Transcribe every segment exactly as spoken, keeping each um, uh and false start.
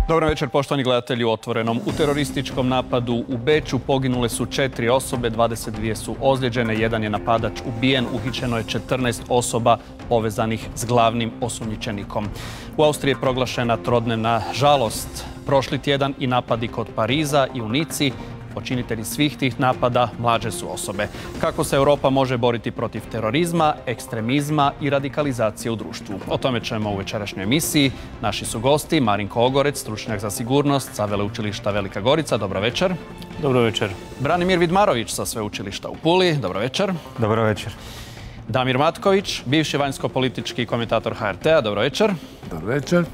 Dobar večer, poštovani gledatelji u Otvorenom. U terorističkom napadu u Beču poginule su četiri osobe, dvadeset dvije su ozlijeđene, jedan je napadač ubijen, uhićeno je četrnaest osoba povezanih s glavnim osumnjičenikom. U Austriji je proglašena trodnevna žalost. Prošli tjedan i napadi kod Pariza i u Nici. Počinitelji svih tih napada mlađe su osobe. Kako se Europa može boriti protiv terorizma, ekstremizma i radikalizacije u društvu? O tome ćemo u večerašnjoj emisiji. Naši su gosti Marinko Ogorec, stručnjak za sigurnost sa Veleučilišta Velika Gorica. Dobro večer. Dobro večer. Branimir Vidmarović sa Sveučilišta u Puli. Dobro večer. Dobro večer. Damir Matković, bivši vanjsko-politički komentator H R T-a. Dobro večer. Dobro večer.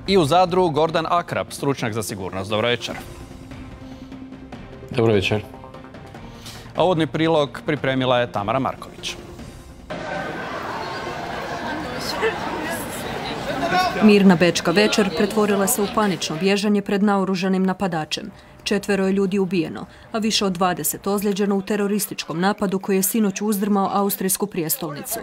I u Zadru Gordan Akrap, stručnjak za sigurnost. Dobro večer. Dobro večer. A uvodni prilog pripremila je Tamara Marković. Mirna bečka večer pretvorila se u panično bježanje pred naoružanim napadačem. Četvero je ljudi ubijeno, a više od dvadeset ozlijeđeno u terorističkom napadu koji je sinoć uzdrmao austrijsku prijestolnicu.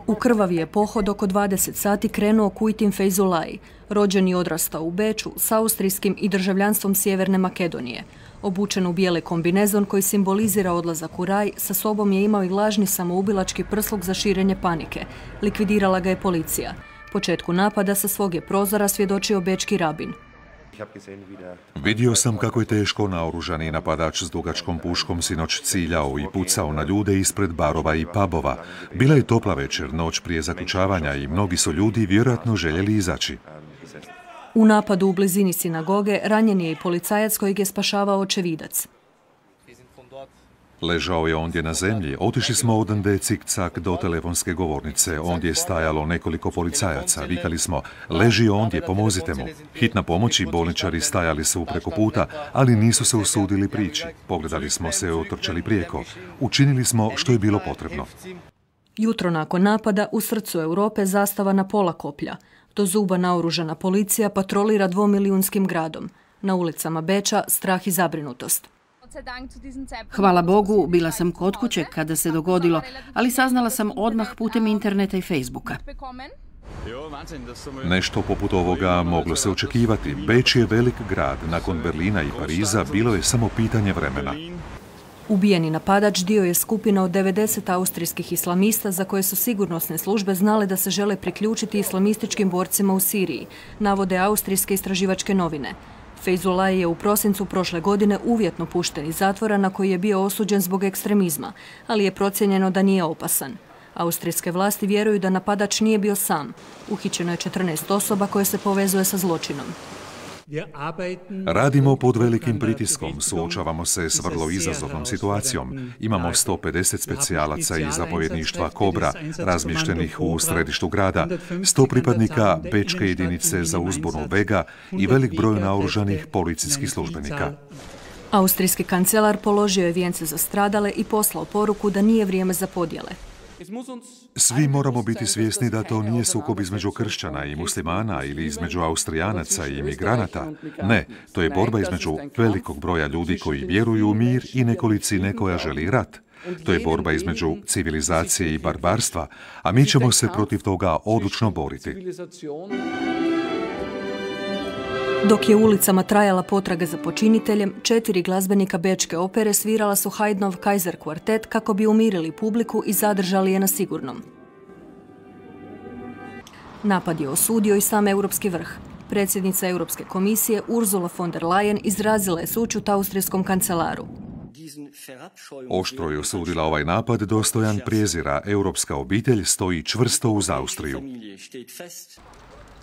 U krvavi je pohod oko dvadeset sati krenuo Kujtin Fejzulaj, rođen i odrastao u Beču s austrijskim i državljanstvom Sjeverne Makedonije. Obučen u bijeli kombinezon koji simbolizira odlazak u raj, sa sobom je imao i lažni samoubilački prsluk za širenje panike. Likvidirala ga je policija. Početku napada sa svog je prozora svjedočio bečki rabin. Vidio sam kako je teško naoružani napadač s dugačkom puškom sinoć ciljao i pucao na ljude ispred barova i pubova. Bila je topla večer, noć prije zaključavanja i mnogi su ljudi vjerojatno željeli izaći. U napadu u blizini sinagoge ranjen je i policajac kojeg je spašavao očevidac. Ležao je ondje na zemlji. Otišli smo odande cik-cak do telefonske govornice. Ondje je stajalo nekoliko policajaca. Vikali smo, leži ondje, pomozite mu. Hitna pomoć i bolničari stajali su preko puta, ali nisu se usudili prići. Pogledali smo se, otrčali prijeko. Učinili smo što je bilo potrebno. Jutro nakon napada u srcu Europe zastava na pola koplja. Do zuba naoružana policija patrolira dvomilijunskim gradom. Na ulicama Beča strah i zabrinutost. Hvala Bogu, bila sam kod kuće kada se dogodilo, ali saznala sam odmah putem interneta i Facebooka. Nešto poput ovoga moglo se očekivati. Beč je velik grad. Nakon Berlina i Pariza bilo je samo pitanje vremena. Ubijeni napadač dio je skupina od devedeset austrijskih islamista za koje su sigurnosne službe znale da se žele priključiti islamističkim borcima u Siriji, navode austrijske istraživačke novine. Fejzulaj je u prosincu prošle godine uvjetno pušten iz zatvora na koji je bio osuđen zbog ekstremizma, ali je procijenjeno da nije opasan. Austrijske vlasti vjeruju da napadač nije bio sam. Uhićeno je četrnaest osoba koje se povezuje sa zločinom. Radimo pod velikim pritiskom, suočavamo se s vrlo izazovnom situacijom. Imamo sto pedeset specijalaca iz zapovjedništva Kobra, razmještenih u središtu grada, sto pripadnika bečke jedinice za uzbunu Vega i velik broj naoružanih policijskih službenika. Austrijski kancelar položio je vijence za stradale i poslao poruku da nije vrijeme za podjele. Svi moramo biti svjesni da to nije sukob između kršćana i muslimana ili između Austrijanaca i imigranata. Ne, to je borba između velikog broja ljudi koji vjeruju u mir i nekolicine koja želi rat. To je borba između civilizacije i barbarstva, a mi ćemo se protiv toga odlučno boriti. Dok je ulicama trajala potraga za počiniteljem, četiri glazbenika bečke opere svirala su Haydnov Kaiser kvartet kako bi umirili publiku i zadržali je na sigurnom. Napad je osudio i sam europski vrh. Predsjednica Europske komisije Ursula von der Leyen izrazila je sućut austrijskom kancelaru. Oštro je osudila ovaj napad dostojan prijezira. Europska obitelj stoji čvrsto uz Austriju.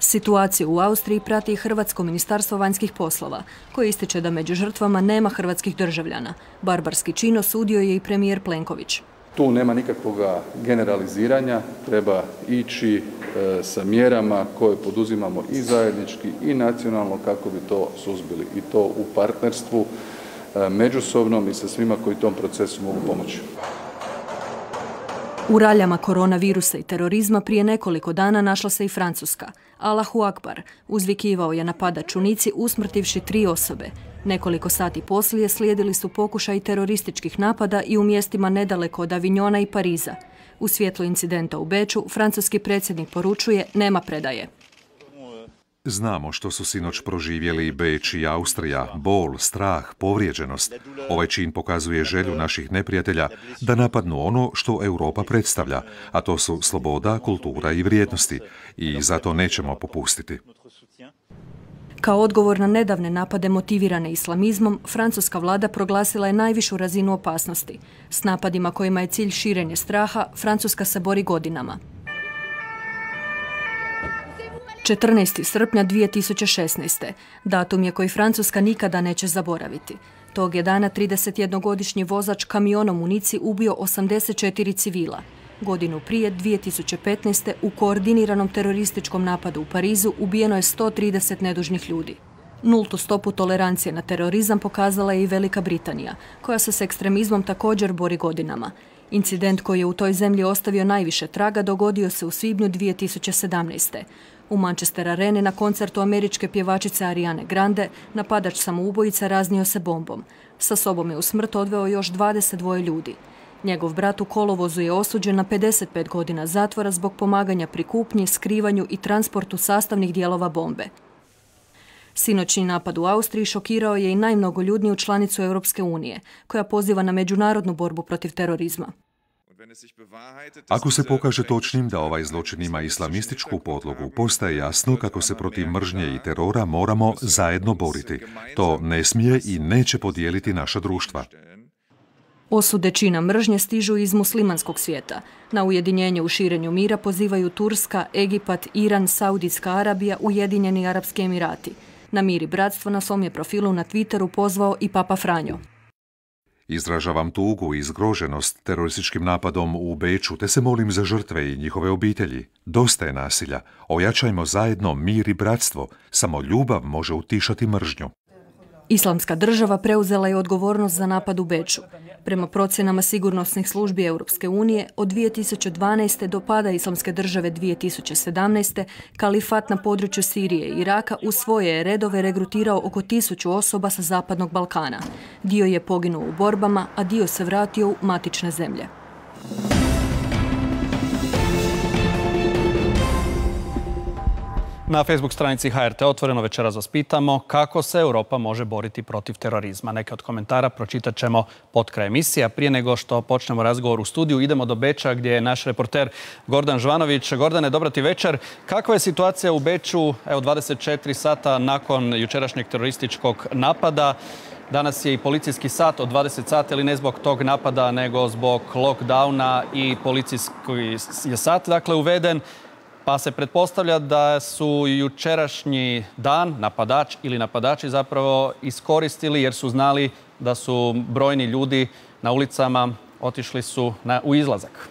Situaciju u Austriji prati i Hrvatsko ministarstvo vanjskih poslova, koje ističe da među žrtvama nema hrvatskih državljana. Barbarski čin osudio je i premijer Plenković. Tu nema nikakvog generaliziranja, treba ići e, sa mjerama koje poduzimamo i zajednički i nacionalno kako bi to suzbili. I to u partnerstvu e, međusobnom i sa svima koji tom procesu mogu pomoći. U raljama koronavirusa i terorizma prije nekoliko dana našla se i Francuska. Allahu Akbar uzvikivao je napadač u Nici usmrtivši tri osobe. Nekoliko sati poslije slijedili su pokušaj terorističkih napada i u mjestima nedaleko od Avignona i Pariza. U svjetlu incidenta u Beču francuski predsjednik poručuje nema predaje. Znamo što su sinoć proživjeli Beč i Austrija, bol, strah, povrijeđenost. Ovaj čin pokazuje želju naših neprijatelja da napadnu ono što Europa predstavlja, a to su sloboda, kultura i vrijednosti. I zato nećemo popustiti. Kao odgovor na nedavne napade motivirane islamizmom, francuska vlada proglasila je najvišu razinu opasnosti. S napadima kojima je cilj širenje straha, Francuska se bori godinama. četrnaestog srpnja dvije tisuće šesnaeste. Datum je koji Francuska nikada neće zaboraviti. Tog je dana tridesetjednogodišnji vozač kamionom u Nici ubio osamdeset četiri civila. Godinu prije, dvije tisuće petnaeste. u koordiniranom terorističkom napadu u Parizu ubijeno je sto trideset nedužnih ljudi. Nultu stopu tolerancije na terorizam pokazala je i Velika Britanija, koja se s ekstremizmom također bori godinama. Incident koji je u toj zemlji ostavio najviše traga dogodio se u svibnju dvije tisuće sedamnaeste. U Manchester Areni na koncertu američke pjevačice Ariane Grande napadač samoubojica raznio se bombom. Sa sobom je u smrt odveo još dvadeset dva ljudi. Njegov brat u kolovozu je osuđen na pedeset pet godina zatvora zbog pomaganja pri kupnji, skrivanju i transportu sastavnih dijelova bombe. Sinoćni napad u Austriji šokirao je i najmnogoljudniju članicu Europske unije, koja poziva na međunarodnu borbu protiv terorizma. Ako se pokaže točnim da ovaj zločin ima islamističku podlogu, postaje jasno kako se protiv mržnje i terora moramo zajedno boriti. To ne smije i neće podijeliti naša društva. Osude čina mržnje stižu iz muslimanskog svijeta. Na ujedinjenje u širenju mira pozivaju Turska, Egipat, Iran, Saudijska Arabija, Ujedinjeni Arapski Emirati. Na mir i bratstvo na svom je profilu na Twitteru pozvao i Papa Franjo. Izražavam tugu i zgroženost terorističkim napadom u Beču, te se molim za žrtve i njihove obitelji. Dosta je nasilja. Ojačajmo zajedno mir i bratstvo. Samo ljubav može utišati mržnju. Islamska država preuzela je odgovornost za napad u Beču. Prema procjenama sigurnosnih službi Europske unije, od dvije tisuće dvanaeste. do pada Islamske države dvije tisuće sedamnaeste. kalifat na području Sirije i Iraka u svoje je redove regrutirao oko tisuću osoba sa Zapadnog Balkana. Dio je poginuo u borbama, a dio se vratio u matične zemlje. Na Facebook stranici H R T Otvoreno večeras vas pitamo kako se Europa može boriti protiv terorizma. Neke od komentara pročitat ćemo pod kraj emisije. Prije nego što počnemo razgovor u studiju, idemo do Beča gdje je naš reporter Gordan Žvanović. Gordane, dobra ti večer. Kakva je situacija u Beču, evo dvadeset četiri sata nakon jučerašnjeg terorističkog napada? Danas je i policijski sat od dvadeset sati, ali ne zbog tog napada, nego zbog lockdowna i policijski je sat dakle uveden. Pa se pretpostavlja da su jučerašnji dan napadač ili napadači zapravo iskoristili jer su znali da su brojni ljudi na ulicama otišli su na, u izlazak.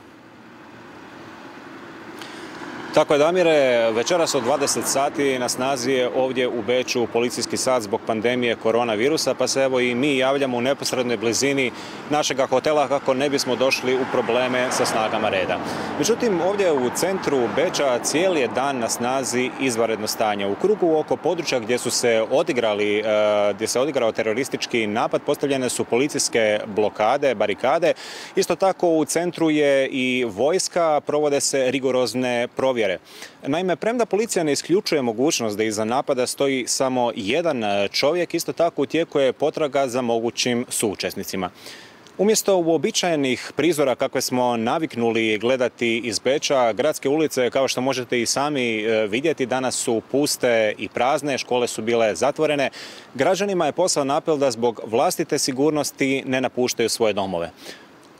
Tako je, Damire, večeras od dvadeset sati na snazi je ovdje u Beču policijski sat zbog pandemije koronavirusa, pa se evo i mi javljamo u neposrednoj blizini našega hotela kako ne bismo došli u probleme sa snagama reda. Međutim, ovdje u centru Beča cijeli je dan na snazi izvanredno stanje. U krugu oko područja gdje su se odigrali, gdje se odigrao teroristički napad, postavljene su policijske blokade, barikade. Isto tako u centru je i vojska, provode se rigorozne provjere. Naime, premda policija ne isključuje mogućnost da iza napada stoji samo jedan čovjek, isto tako u tijeku je potraga za mogućim suučesnicima. Umjesto uobičajenih prizora kakve smo naviknuli gledati iz Beča, gradske ulice, kao što možete i sami vidjeti, danas su puste i prazne, škole su bile zatvorene. Građanima je poslan apel da zbog vlastite sigurnosti ne napuštaju svoje domove.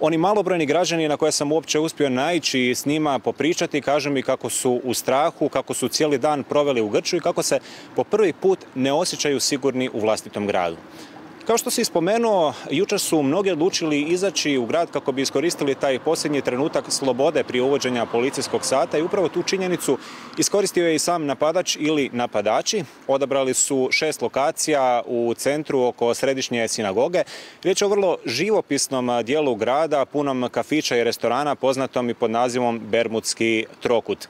Oni malobrojni građani na koje sam uopće uspio naići i s njima popričati kažu mi kako su u strahu, kako su cijeli dan proveli u grču i kako se po prvi put ne osjećaju sigurni u vlastitom gradu. Kao što si spomenuo, jučer su mnogi odlučili izaći u grad kako bi iskoristili taj posljednji trenutak slobode prije uvođenja policijskog sata i upravo tu činjenicu iskoristio je i sam napadač ili napadači. Odabrali su šest lokacija u centru oko središnje sinagoge. Riječ je o vrlo živopisnom dijelu grada, punom kafića i restorana, poznatom i pod nazivom Bermudski trokut.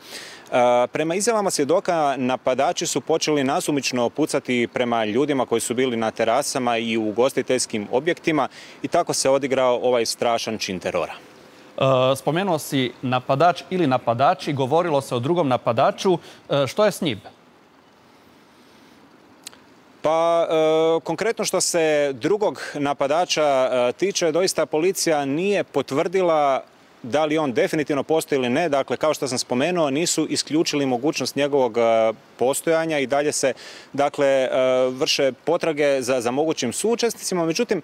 Prema izjavama svjedoka, napadači su počeli nasumično pucati prema ljudima koji su bili na terasama i u ugostiteljskim objektima i tako se odigrao ovaj strašan čin terora. Spomenuo si napadač ili napadači, govorilo se o drugom napadaču. Što je s njim? Pa e, konkretno što se drugog napadača e, tiče, doista policija nije potvrdila da li on definitivno postoji ili ne. Dakle, kao što sam spomenuo, nisu isključili mogućnost njegovog e, postojanja i dalje se dakle, e, vrše potrage za, za mogućim suučesnicima. Međutim,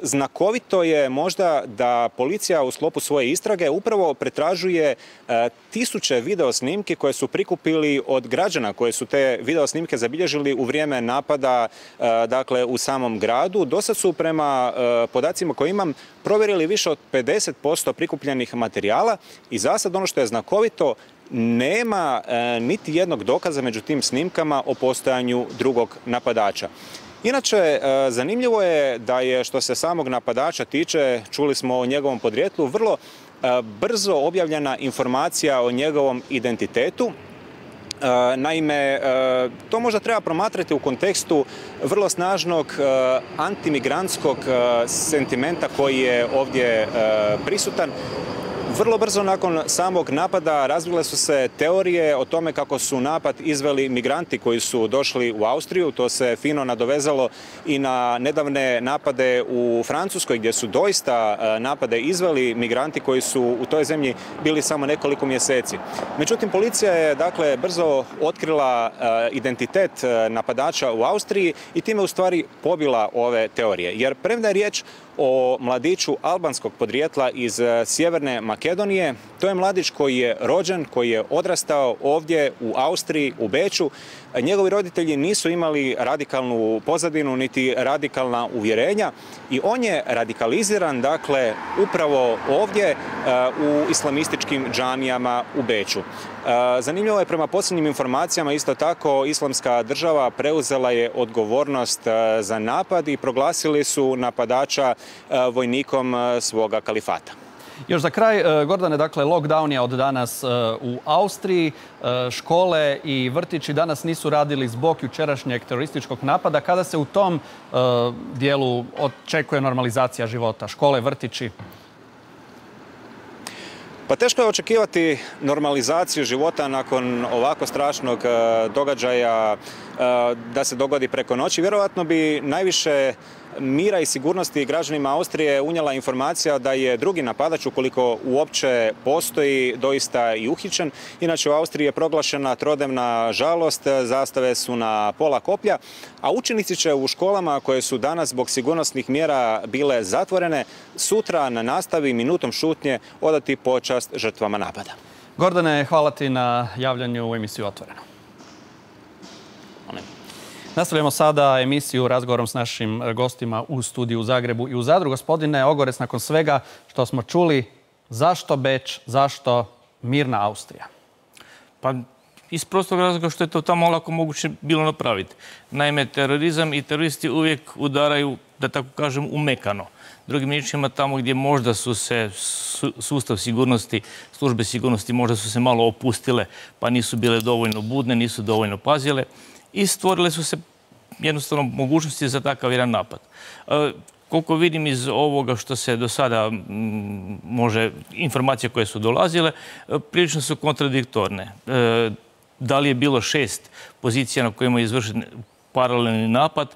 znakovito je možda da policija u sklopu svoje istrage upravo pretražuje e, tisuće videosnimki koje su prikupili od građana, koje su te videosnimke zabilježili u vrijeme napada e, dakle, u samom gradu. Dosad su prema e, podacima koje imam provjerili više od pedeset posto prikupljenih materijala i za sad ono što je znakovito, nema e, niti jednog dokaza među tim snimkama o postojanju drugog napadača. Inače, zanimljivo je da je što se samog napadača tiče, čuli smo o njegovom podrijetlu, vrlo brzo objavljena informacija o njegovom identitetu. Naime, to možda treba promatrati u kontekstu vrlo snažnog antimigrantskog sentimenta koji je ovdje prisutan. Vrlo brzo nakon samog napada razvile su se teorije o tome kako su napad izveli migranti koji su došli u Austriju. To se fino nadovezalo i na nedavne napade u Francuskoj gdje su doista napade izveli migranti koji su u toj zemlji bili samo nekoliko mjeseci. Međutim, policija je dakle brzo otkrila identitet napadača u Austriji i time u stvari pobila ove teorije. Jer premda je riječ o mladiću albanskog podrijetla iz Sjeverne Makedonije, to je mladić koji je rođen, koji je odrastao ovdje u Austriji, u Beču. Njegovi roditelji nisu imali radikalnu pozadinu niti radikalna uvjerenja i on je radikaliziran, dakle, upravo ovdje u islamističkim džamijama u Beču. Zanimljivo je, prema posljednjim informacijama, isto tako Islamska država preuzela je odgovornost za napad i proglasili su napadača vojnikom svoga kalifata. Još za kraj, Gordane, dakle, lockdown je od danas u Austriji. Škole i vrtići danas nisu radili zbog jučerašnjeg terorističkog napada. Kada se u tom dijelu očekuje normalizacija života? Škole, vrtići? Pa teško je očekivati normalizaciju života nakon ovako strašnog događaja da se dogodi preko noći. Vjerojatno bi najviše mira i sigurnosti građanima Austrije unijela informacija da je drugi napadač, ukoliko uopće postoji, doista i uhićen. Inače, u Austriji je proglašena trodnevna žalost, zastave su na pola koplja, a učenici će u školama koje su danas zbog sigurnosnih mjera bile zatvorene, sutra na nastavi minutom šutnje odati počast žrtvama napada. Gordane, hvala ti na javljanju u emisiju Otvoreno. Nastavljamo sada emisiju razgovorom s našim gostima u studiju u Zagrebu i u Zadru. Gospodine Ogorec, nakon svega što smo čuli, zašto Beč, zašto mirna Austrija? Pa iz prostog razloga što je to tamo lako moguće bilo napraviti. Naime, terorizam i teroristi uvijek udaraju, da tako kažem, umekano. Drugim riječima, tamo gdje možda su se sustav sigurnosti, službe sigurnosti možda su se malo opustile, pa nisu bile dovoljno budne, nisu dovoljno pazile, i stvorile su se jednostavno mogućnosti za takav jedan napad. E, koliko vidim iz ovoga što se do sada m, može, informacije koje su dolazile, e, prilično su kontradiktorne. E, da li je bilo šest pozicija na kojima je izvršen paralelni napad,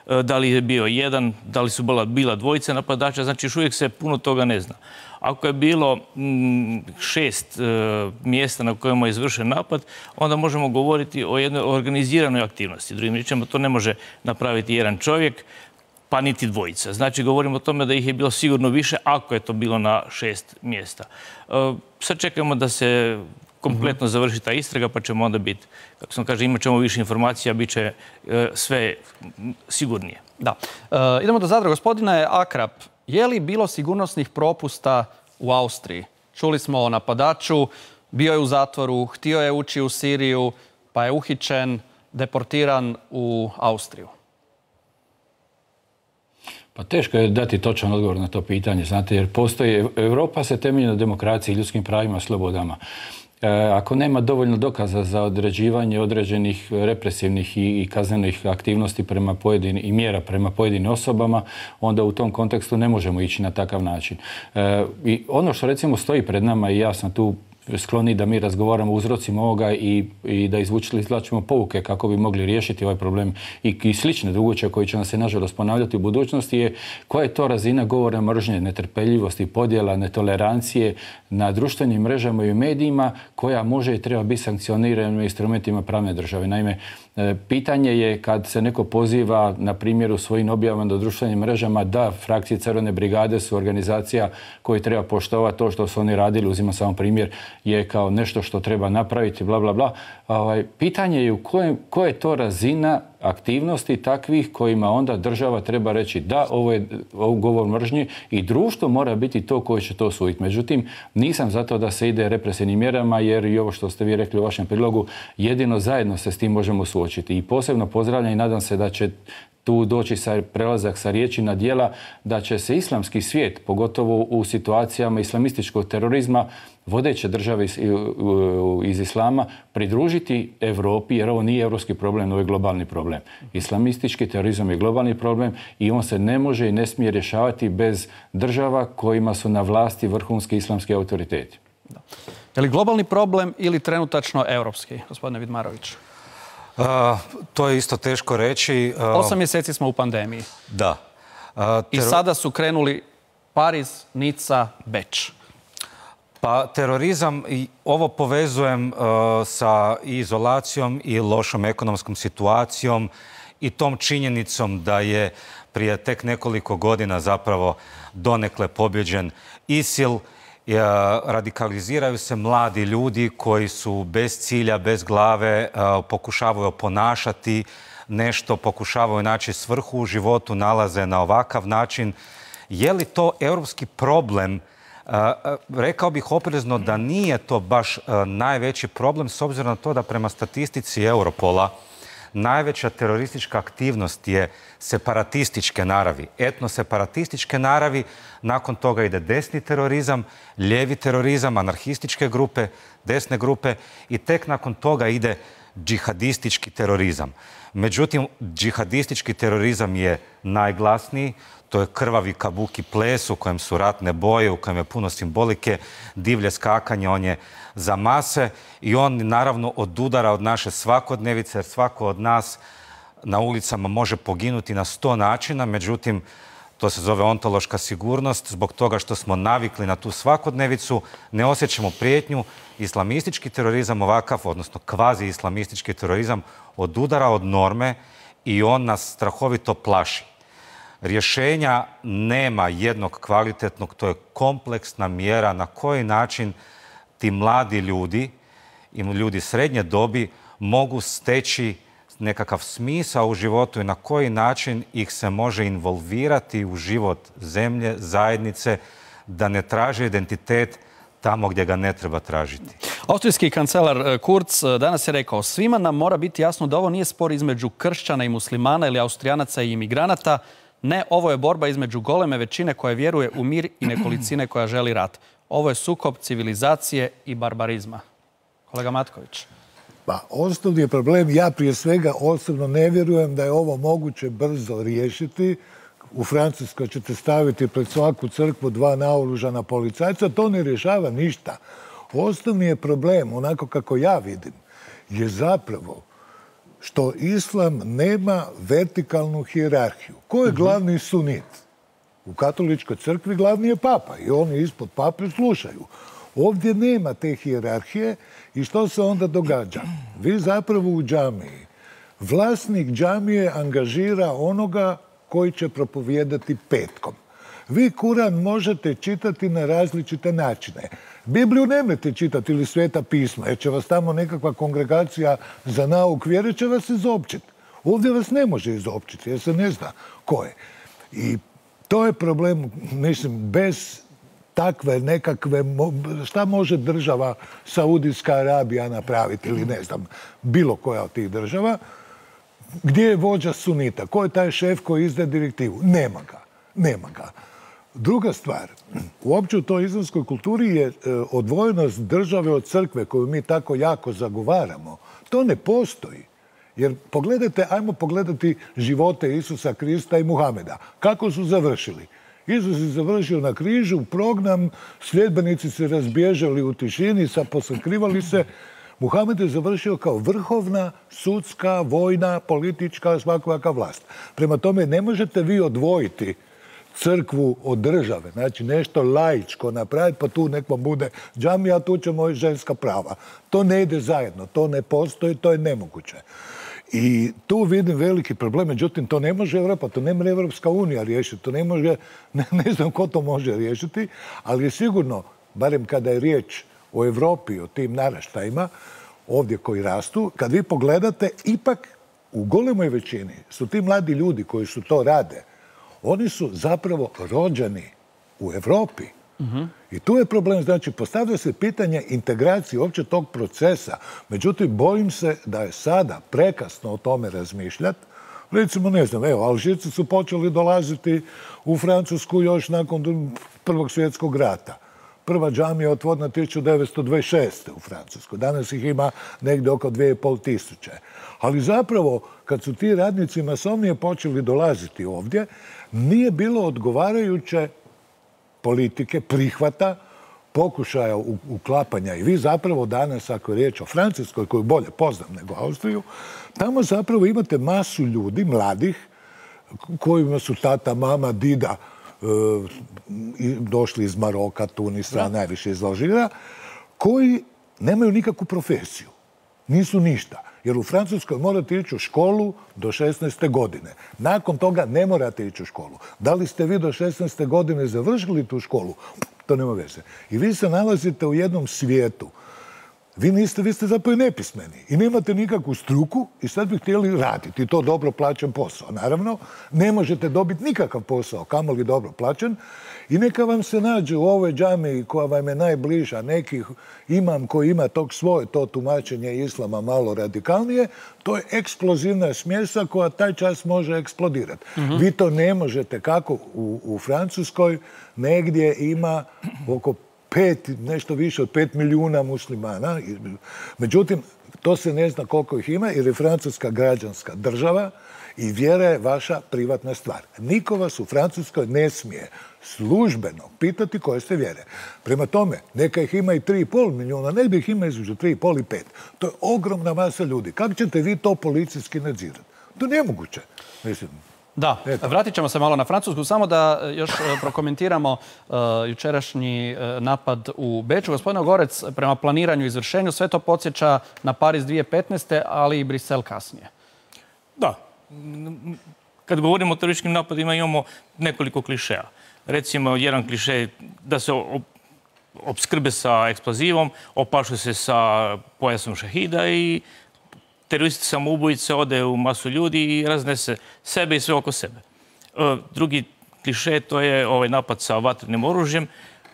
e, da li je bio jedan, da li su bila, bila dvojica napadača, znači još uvijek se puno toga ne zna. Ako je bilo m, šest e, mjesta na kojima je izvršen napad, onda možemo govoriti o jednoj organiziranoj aktivnosti. Drugim riječima, to ne može napraviti jedan čovjek, pa niti dvojica. Znači, govorimo o tome da ih je bilo sigurno više ako je to bilo na šest mjesta. E, sad čekamo da se kompletno završi ta istraga, pa ćemo onda biti, kako sam kaže, imat ćemo više informacija, bit će e, sve sigurnije. Da. E, idemo do Zadra. Gospodine Akrap, je li bilo sigurnosnih propusta u Austriji? Čuli smo o napadaču, bio je u zatvoru, htio je ući u Siriju, pa je uhićen, deportiran u Austriju. Pa teško je dati točan odgovor na to pitanje, znate, jer postoji, Europa se temelji na demokraciji, ljudskim pravima, slobodama. Ako nema dovoljno dokaza za određivanje određenih represivnih i kaznenih aktivnosti prema pojedinim i mjera prema pojedinim osobama, onda u tom kontekstu ne možemo ići na takav način. I ono što recimo stoji pred nama, i ja sam tu skloni da mi razgovaramo o uzrocima ovoga i, i da izvlačimo pouke kako bi mogli riješiti ovaj problem i, i slične druguće koji će nam se nažalost ponavljati u budućnosti je koja je to razina govora mržnje, netrpeljivosti, podjela, netolerancije na društvenim mrežama i medijima koja može i treba biti sankcionirana instrumentima pravne države. Naime, pitanje je kad se neko poziva, na primjer, u svojim objavama do društvenim mrežama da frakcije Crvene brigade su organizacija koji treba poštovati to što su oni radili, uzimam samo primjer, je kao nešto što treba napraviti, bla, bla, bla. Ovaj, pitanje je u kojem, koja je to razina aktivnosti takvih kojima onda država treba reći da, ovo je ovo govor mržnje i društvo mora biti to koje će to osuditi. Međutim, nisam za to da se ide represivnim mjerama jer i ovo što ste vi rekli u vašem prilogu, jedino zajedno se s tim možemo suočiti. I posebno pozdravljam i nadam se da će tu doći sa prelazak sa riječi na djela, da će se islamski svijet, pogotovo u situacijama islamističkog terorizma, vodeće države iz, iz islama, pridružiti Europi, jer ovo nije europski problem, ovo je globalni problem. Islamistički terorizam je globalni problem i on se ne može i ne smije rješavati bez država kojima su na vlasti vrhunski islamski autoriteti. Da. Je li globalni problem ili trenutačno europski, gospodine Vidmarović? Uh, to je isto teško reći. Uh, Osam mjeseci smo u pandemiji. Da. Uh, I sada su krenuli Pariz, Nica, Beč. Pa terorizam, i ovo povezujem uh, sa izolacijom i lošom ekonomskom situacijom i tom činjenicom da je prije tek nekoliko godina zapravo donekle pobjeđen ISIL. Radikaliziraju se mladi ljudi koji su bez cilja, bez glave, pokušavaju oponašati nešto, pokušavaju naći svrhu u životu, nalaze na ovakav način. Je li to europski problem? Rekao bih oprezno da nije to baš najveći problem s obzirom na to da prema statistici Europola najveća teroristička aktivnost je separatističke naravi, etnoseparatističke naravi, nakon toga ide desni terorizam, lijevi terorizam, anarhističke grupe, desne grupe i tek nakon toga ide džihadistički terorizam. Međutim, džihadistički terorizam je najglasniji, to je krvavi kabuki ples u kojem su ratne boje, u kojem je puno simbolike, divlje skakanje, on je za mase i on naravno odudara od naše svakodnevice, jer svako od nas na ulicama može poginuti na sto načina, međutim, to se zove ontološka sigurnost, zbog toga što smo navikli na tu svakodnevicu, ne osjećamo prijetnju. Islamistički terorizam ovakav, odnosno kvazi-islamistički terorizam, odudara od norme i on nas strahovito plaši. Rješenja nema jednog kvalitetnog, to je kompleksna mjera na koji način ti mladi ljudi i ljudi srednje dobi mogu steći nekakav smisao u životu i na koji način ih se može involvirati u život zemlje, zajednice, da ne traže identitet tamo gdje ga ne treba tražiti. Austrijski kancelar Kurz danas je rekao: svima nam mora biti jasno da ovo nije spor između kršćana i muslimana ili Austrijanaca i imigranata. Ne, ovo je borba između goleme većine koja vjeruje u mir i nekolicine koja želi rat. Ovo je sukob civilizacije i barbarizma. Kolega Matković. Pa, osnovni je problem, ja prije svega osobno ne vjerujem da je ovo moguće brzo riješiti. U Francuskoj ćete staviti pred svaku crkvu dva naoružana policajca, to ne rješava ništa. Osnovni je problem, onako kako ja vidim, je zapravo što islam nema vertikalnu hijerarhiju. Ko je glavni sunit? U katoličkoj crkvi glavni je papa i oni ispod pape slušaju. Ovdje nema te hijerarhije i što se onda događa? Vi zapravo u džamiji, vlasnik džamije angažira onoga koji će propovijedati petkom. Vi Kuran možete čitati na različite načine. Bibliju nemojte čitati ili Sveta pisma, jer će vas tamo nekakva kongregacija za nauk vjere će vas izopćiti. Ovdje vas ne može izopćiti, jer se ne zna ko je. I to je problem, mislim, bez takve nekakve, šta može država Saudijska Arabija napraviti ili ne znam, bilo koja od tih država, gdje je vođa sunita, ko je taj šef koji izdaje direktivu? Nema ga, nema ga. Druga stvar, uopće u toj islamskoj kulturi je odvojenost države od crkve koju mi tako jako zagovaramo. To ne postoji. Jer pogledajte, ajmo pogledati živote Isusa Krista i Muhameda. Kako su završili? Isus je završio na križu, program, sljedbenici se razbježali u tišini, posakrivali se. Muhamed je završio kao vrhovna, sudska, vojna, politička, svakojaka vlast. Prema tome, ne možete vi odvojiti crkvu od države. Znači, nešto laičko napraviti, pa tu nek vam bude džamija, a tu ćemo i ženska prava. To ne ide zajedno, to ne postoji, to je nemoguće. I tu vidim veliki problem, međutim, to ne može Evropa, to ne može Evropska unija riješiti, to ne može, ne, ne znam ko to može riješiti, ali je sigurno, barem kada je riječ o Evropi, o tim naraštajima, ovdje koji rastu, kad vi pogledate, ipak u golemoj većini su ti mladi ljudi koji su to rade, oni su zapravo rođeni u Evropi. Uh-huh. I tu je problem, znači, postavlja se pitanje integracije uopće tog procesa. Međutim, bojim se da je sada prekasno o tome razmišljati. Recimo, ne znam, evo, Alžirci su počeli dolaziti u Francusku još nakon Prvog svjetskog rata. Prva džamija je otvorena tisuću devetsto dvadeset šeste u Francuskoj. Danas ih ima negdje oko dvije i pol tisuće. Ali zapravo, kad su ti radnici masovnije počeli dolaziti ovdje, nije bilo odgovarajuće politike, prihvata, pokušaja uklapanja. I vi zapravo danas, ako je riječ o Francuskoj, koju bolje poznam nego Austriju, tamo zapravo imate masu ljudi, mladih, kojima su tata, mama, dida došli iz Maroka, Tunisa, najviše iz Alžira, koji nemaju nikakvu profesiju. Nisu ništa. Jer u Francuskoj morate ići u školu do šesnaeste godine. Nakon toga ne morate ići u školu. Da li ste vi do šesnaeste godine završili tu školu? To nema veze. I vi se nalazite u jednom svijetu. Vi niste, vi ste zapravo nepismeni i nemate nikakvu struku i sad bi htjeli raditi. I to dobro plaćen posao. Naravno, ne možete dobiti nikakav posao, kamoli dobro plaćen. I neka vam se nađe u ovoj džamiji koja vam je najbliža, neki imam koji ima tog svoje to tumačenje islama malo radikalnije, to je eksplozivna smjesa koja taj čas može eksplodirati. Mm-hmm. Vi to ne možete kako u, u Francuskoj negdje ima oko pet, nešto više od pet milijuna muslimana. Međutim, to se ne zna koliko ih ima jer je Francuska građanska država i vjera je vaša privatna stvar. Niko vas u Francuskoj ne smije službeno pitati koje ste vjere. Prema tome, neka ih ima i tri i pol milijuna, ne bi ih ima između tri i pol i pet. To je ogromna masa ljudi. Kako ćete vi to policijski nadzirati? To je nemoguće. Mislim, da, eto. Vratit ćemo se malo na Francusku. Samo da još prokomentiramo uh, jučerašnji uh, napad u Beču. Gospodine Gorec, prema planiranju i izvršenju, sve to podsjeća na Pariz dvije tisuće petnaeste. ali i Brisel kasnije. Da. Kad govorimo o terorističkim napadima imamo nekoliko klišeja. Recimo, jedan klišej da se opskrbe sa eksplozivom, opašu se sa pojasom šahida i teroristi samoubojice ode u masu ljudi i raznese sebe i sve oko sebe. Drugi klišej to je ovaj napad sa vatrenim oružjem.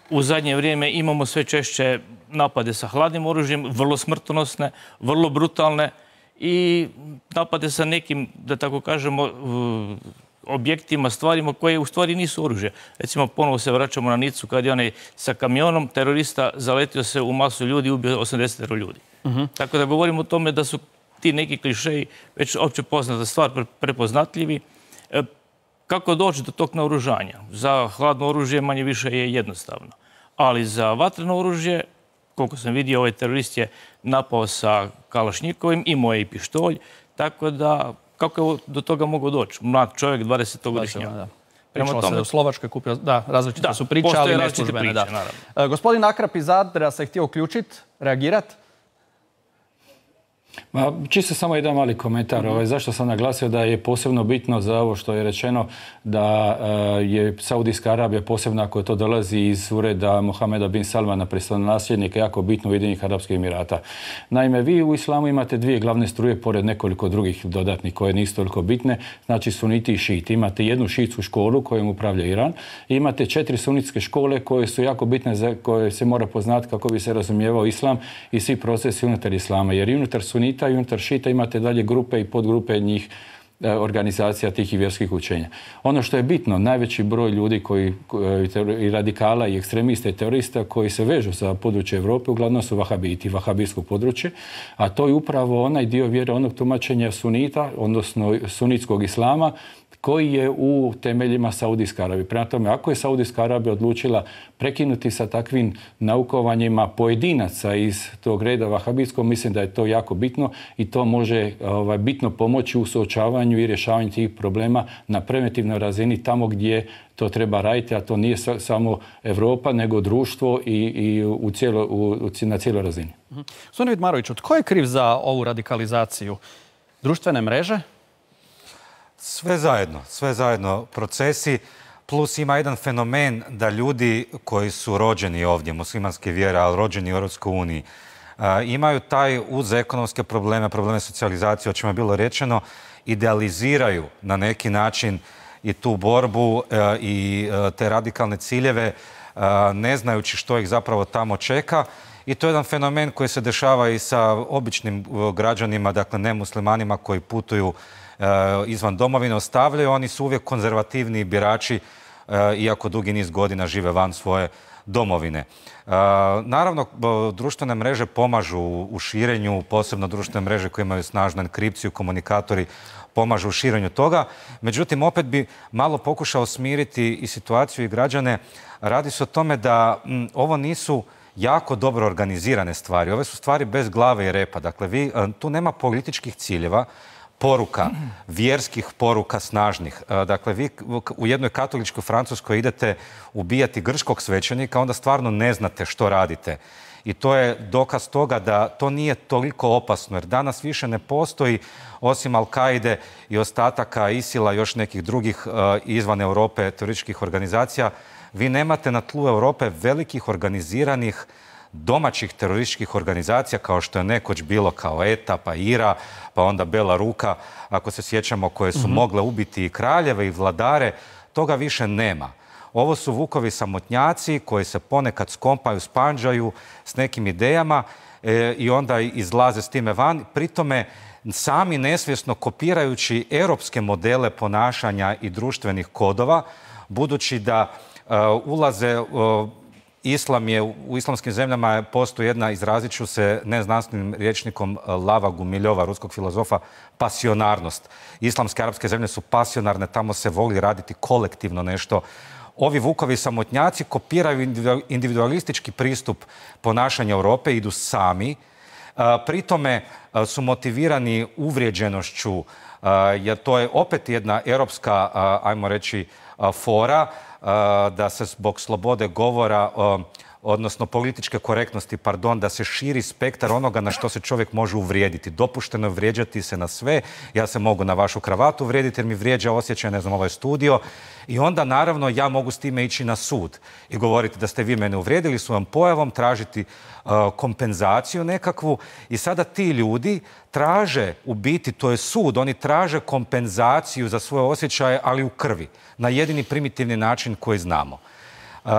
U zadnje vrijeme imamo sve češće napade sa hladnim oružjem, vrlo smrtonosne, vrlo brutalne i napade sa nekim, da tako kažemo, objektima, stvarima koje u stvari nisu oružje. Recimo, ponovo se vraćamo na Nicu kad je onaj sa kamionom terorista zaletio se u masu ljudi i ubio osamdeset ljudi. Uh-huh. Tako da govorimo o tome da su ti neki klišeji već opće poznata stvar, prepoznatljivi. E, kako doći do tog naoružanja? Za hladno oružje manje više je jednostavno. Ali za vatreno oružje, koliko sam vidio, ovaj terorist je napao sa kalašnjikovim, imao je i pištolj, tako da kako je do toga mogao doći? Mlad čovjek, dvadesetogodišnjak. Da. Pričalo se u Slovačkoj kupio, da, različite su priče, ali ne službene. Da. Gospodin Akrap iz Zadra se htio uključiti, reagirati? Ma, čisto samo jedan mali komentar. Mm-hmm. Ovaj, zašto sam naglasio da je posebno bitno za ovo što je rečeno da uh, je Saudijska Arabija, posebno ako to dolazi iz ureda Mohameda bin Salmana, prestolonaslednika, jako bitno Ujedinjenih Arapskih Emirata. Naime, vi u islamu imate dvije glavne struje, pored nekoliko drugih dodatnih koje nisu toliko bitne, znači suniti i šiti. Imate jednu šiitsku školu kojom upravlja Iran i imate četiri sunitske škole koje su jako bitne, za koje se mora poznati kako bi se razumijevao islam i svi procesi unutar islama. Jer i unutar sunita i unutar šita imate dalje grupe i podgrupe njih organizacija tih i vjerskih učenja. Ono što je bitno, najveći broj ljudi koji, i radikala i ekstremista i terorista koji se vežu za područje Europe uglavnom su vahabiti, vahabijsko područje, a to je upravo onaj dio vjere onog tumačenja sunita, odnosno sunitskog islama, koji je u temeljima Saudijske Arabije. Prema tome, ako je Saudijska Arabija odlučila prekinuti sa takvim naukovanjima pojedinaca iz tog reda vahabijskog, mislim da je to jako bitno i to može ovaj, bitno pomoći u suočavanju i rješavanju tih problema na preventivnoj razini tamo gdje to treba raditi, a to nije samo Europa, nego društvo i, i u cijelo, u, na cijeloj razini. Gospodine Vidmaroviću, tko je kriv za ovu radikalizaciju? Društvene mreže? Sve zajedno, sve zajedno procesi, plus ima jedan fenomen da ljudi koji su rođeni ovdje, muslimanske vjere, ali rođeni u Europskoj uniji, imaju taj uz ekonomske probleme, probleme socijalizacije, o čemu je bilo rečeno, idealiziraju na neki način i tu borbu i te radikalne ciljeve, ne znajući što ih zapravo tamo čeka. I to je jedan fenomen koji se dešava i sa običnim građanima, dakle nemuslimanima koji putuju izvan domovine, ostavljaju. Oni su uvijek konzervativni birači, iako dugi niz godina žive van svoje domovine. Naravno, društvene mreže pomažu u širenju, posebno društvene mreže koje imaju snažnu enkripciju, komunikatori pomažu u širenju toga. Međutim, opet bi malo pokušao smiriti i situaciju i građane. Radi se o tome da m, ovo nisu jako dobro organizirane stvari. Ove su stvari bez glave i repa. Dakle, vi, tu nema političkih ciljeva, poruka, vjerskih poruka snažnih. Dakle, vi u jednoj katoličkoj Francuskoj idete ubijati grčkog svećenika, onda stvarno ne znate što radite. I to je dokaz toga da to nije toliko opasno, jer danas više ne postoji, osim Al-Kaide i ostataka Isila i još nekih drugih izvan Europe terorističkih organizacija, vi nemate na tlu Europe velikih organiziranih domaćih terorističkih organizacija kao što je nekoć bilo kao E T A, pa I R A, pa onda Bela Ruka, ako se sjećamo, koje su mm-hmm. mogle ubiti i kraljeve i vladare, toga više nema. Ovo su vukovi samotnjaci koji se ponekad skompaju, spanđaju s nekim idejama e, i onda izlaze s time van. Pritome sami nesvjesno kopirajući europske modele ponašanja i društvenih kodova, budući da uh, ulaze... Uh, Islam je, u islamskim zemljama postoji jedna, izrazit ću se neznanstvenim rječnikom Lava Gumiljova, ruskog filozofa, pasionarnost. Islamske arapske zemlje su pasionarne, tamo se voli raditi kolektivno nešto. Ovi vukovi samotnjaci kopiraju individualistički pristup ponašanja Europe, idu sami. Pri tome su motivirani uvrijeđenošću, jer to je opet jedna europska, ajmo reći, fora, da se zbog slobode govora, odnosno političke korektnosti, pardon, da se širi spektar onoga na što se čovjek može uvrijediti. Dopušteno je vrijeđati se na sve. Ja se mogu na vašu kravatu uvrijediti jer mi vrijeđa osjećaj, ne znam, ovaj studio. I onda, naravno, ja mogu s time ići na sud i govoriti da ste vi mene uvrijedili svojom pojavom, tražiti uh, kompenzaciju nekakvu. I sada ti ljudi traže, u biti, to je sud, oni traže kompenzaciju za svoje osjećaje, ali u krvi, na jedini primitivni način koji znamo. Uh,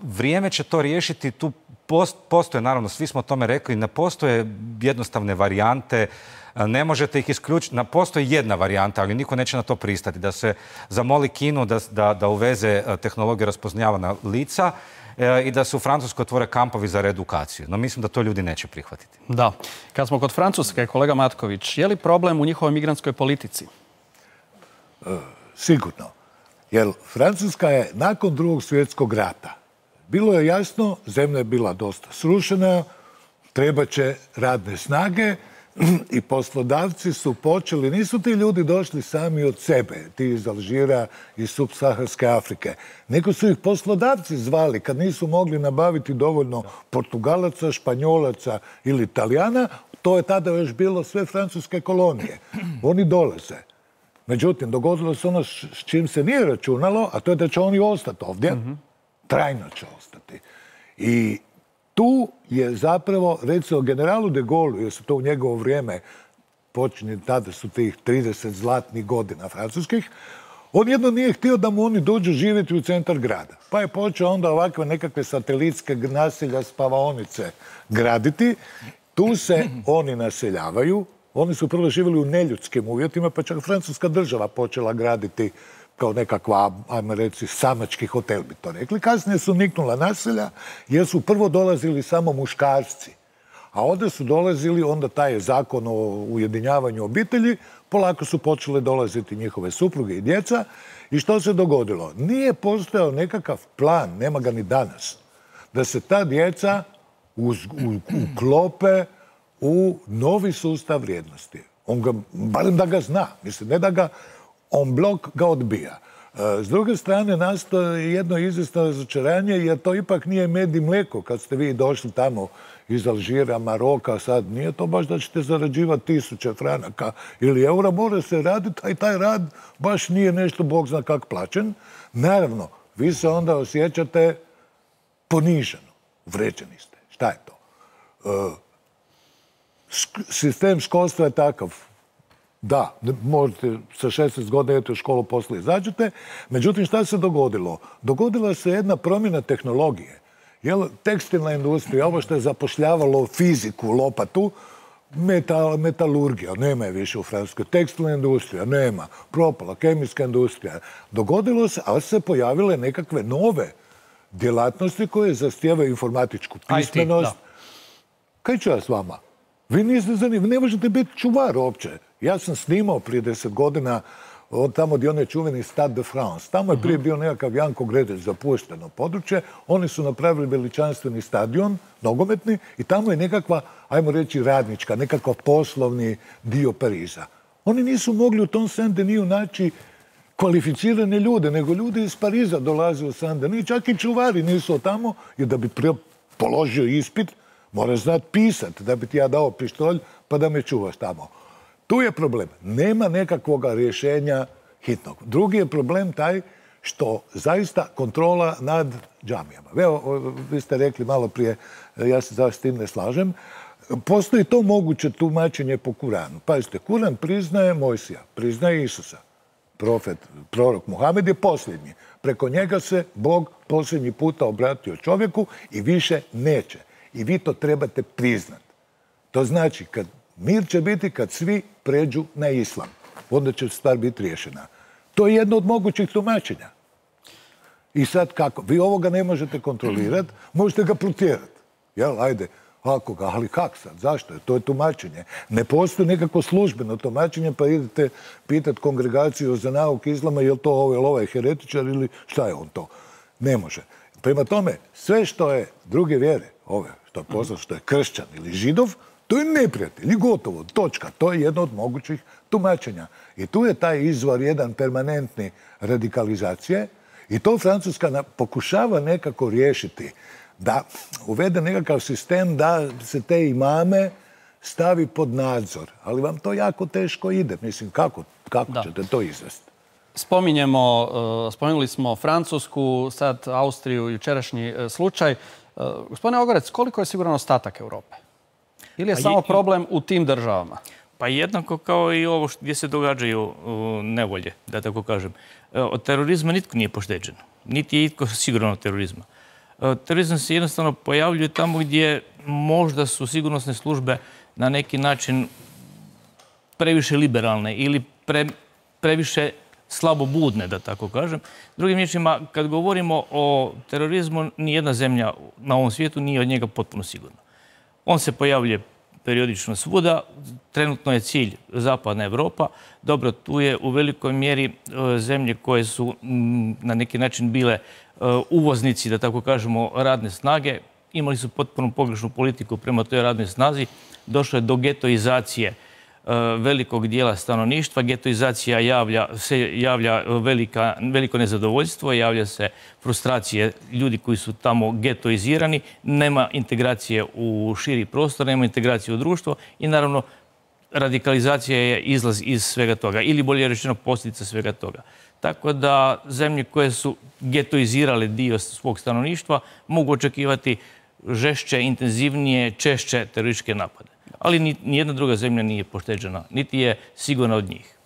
vrijeme će to riješiti, tu post, postoje, naravno, svi smo o tome rekli, ne postoje jednostavne varijante, ne možete ih isključiti. Postoji jedna varijanta, ali niko neće na to pristati, da se zamoli Kinu da, da, da uveze tehnologiju raspoznavanja lica e, i da se u Francuskoj otvore kampovi za reedukaciju. No mislim da to ljudi neće prihvatiti. Da. Kad smo kod Francuske, kolega Matković, je li problem u njihovoj migrantskoj politici? E, sigurno. Jer Francuska je nakon drugog svjetskog rata, bilo je jasno, zemlja je bila dosta srušena, treba će radne snage, i poslodavci su počeli, nisu ti ljudi došli sami od sebe, ti iz Alžira i subsaharske Afrike, nego su ih poslodavci zvali kad nisu mogli nabaviti dovoljno Portugalaca, Španjolaca ili Italijana, to je tada još bilo sve francuske kolonije. Oni dolaze. Međutim, dogodilo se ono s čim se nije računalo, a to je da će oni ostati ovdje, mm-hmm. trajno će ostati. I tu je zapravo, recimo, generalu de Gaullu, jer su to u njegovo vrijeme počinje, tada su tih trideset zlatnih godina francuskih, on jedno nije htio da mu oni dođu živjeti u centar grada. Pa je počeo onda ovakve nekakve satelitske naselja, spavaonice graditi. Tu se oni naseljavaju. Oni su prvo živjeli u neljudskim uvjetima, pa čak francuska država počela graditi kao nekakva, ajmo reći, samački hotel bi to rekli. Kasnije su niknula naselja jer su prvo dolazili samo muškarci. A onda su dolazili, onda taj je zakon o ujedinjavanju obitelji, polako su počele dolaziti njihove supruge i djeca. I što se dogodilo? Nije postojao nekakav plan, nema ga ni danas, da se ta djeca uklope u novi sustav vrijednosti. On ga, barem da ga zna, mislim, ne da ga on blok ga odbija. S druge strane, nastoje jedno izvjesno razočaranje, jer to ipak nije med i mlijeko. Kad ste vi došli tamo iz Alžira, Maroka, sad nije to baš da ćete zarađivati tisuće franaka ili eura, mora se raditi, a i taj rad baš nije nešto, Bog zna kak plaćen. Naravno, vi se onda osjećate poniženo, uvređeni ste. Šta je to? Sistem školstva je takav. Da, možete sa šesnaest godina idete u školu, poslije izađete. Međutim, šta se dogodilo? Dogodila se jedna promjena tehnologije. Jel, tekstilna industrija, ovo što je zapošljavalo fiziku, lopatu, metal, metalurgija, nema je više u Francuskoj. Tekstilna industrija, nema. Propala, kemijska industrija. Dogodilo se, ali se pojavile nekakve nove djelatnosti koje zahtijevaju informatičku pismenost. Kaj ću ja s vama? Vi niste zanimljivi, ne možete biti čuvar uopće. Ja sam snimao prije deset godina od tamo gdje on je čuveni Stade de France. Tamo je prije bio nekakav Janko Gredeć, zapušteno područje. Oni su napravili veličanstveni stadion, nogometni, i tamo je nekakva, ajmo reći, radnička, nekakav poslovni dio Pariza. Oni nisu mogli u tom Saint-Denis naći kvalificirane ljude, nego ljudi iz Pariza dolaze u Saint-Denis. Čak i čuvari nisu tamo, jer da bi položio ispit, moraš znati pisati, da bi ti ja dao pištolj pa da me čuvaš tamo. Tu je problem. Nema nekakvog rješenja hitnog. Drugi je problem taj što zaista kontrola nad džamijama. Evo, vi ste rekli malo prije, ja se zašto s tim ne slažem, postoji to moguće tumačenje po Kuranu. Pazite, Kuran priznaje Mojsija, priznaje Isusa. Profet, prorok Muhamed je posljednji. Preko njega se Bog posljednji puta obratio čovjeku i više neće. I vi to trebate priznati. To znači, kad mir će biti kad svi pređu na islam. Onda će stvar biti riješena. To je jedno od mogućih tumačenja. I sad kako? Vi ovoga ne možete kontrolirati, možete ga protjerati. Jel, ajde, ako ga, ali kak sad? Zašto je? To je tumačenje. Ne postoji nekako službeno tumačenje, pa idete pitati kongregaciju za nauk islama, je li to ovaj, ovaj heretičar ili šta je on to? Ne može. Prema tome, sve što je druge vjere, ove, što je poznat, što je kršćan ili židov, to je neprijatelj i gotovo, točka. To je jedno od mogućih tumačenja. I tu je taj izvor jedan permanentni radikalizacije i to Francuska pokušava nekako riješiti, da uvede nekakav sistem da se te imame stavi pod nadzor. Ali vam to jako teško ide. Mislim, kako, kako ćete to izvesti? Spominjemo, spomenuli smo Francusku, sad Austriju, jučerašnji slučaj. Gospodine Ogorec, koliko je siguran ostatak Europe? Ili je samo problem u tim državama? Pa jednako kao i ovo gdje se događaju nevolje, da tako kažem. Od terorizma nitko nije pošteđen. Niti je itko siguran od terorizma. Terorizam se jednostavno pojavljuje tamo gdje možda su sigurnosne službe na neki način previše liberalne ili pre, previše slabobudne, da tako kažem. Drugim riječima, kad govorimo o terorizmu, nijedna zemlja na ovom svijetu nije od njega potpuno sigurna. On se pojavljuje periodično svuda. Trenutno je cilj Zapadna Evropa. Dobro, tu je u velikoj mjeri zemlje koje su na neki način bile uvoznici, da tako kažemo, radne snage. Imali su potpuno pogrešnu politiku prema toj radnoj snazi. Došlo je do getoizacije velikog dijela stanovništva. Getoizacija javlja, se javlja velika, veliko nezadovoljstvo, javlja se frustracije ljudi koji su tamo getoizirani, nema integracije u širi prostor, nema integracije u društvo i naravno radikalizacija je izlaz iz svega toga ili bolje rečeno posljedica svega toga. Tako da zemlje koje su getoizirale dio svog stanovništva mogu očekivati žešće, intenzivnije, češće terorističke napade. Ali nijedna druga zemlja nije pošteđena, niti je sigurna od njih.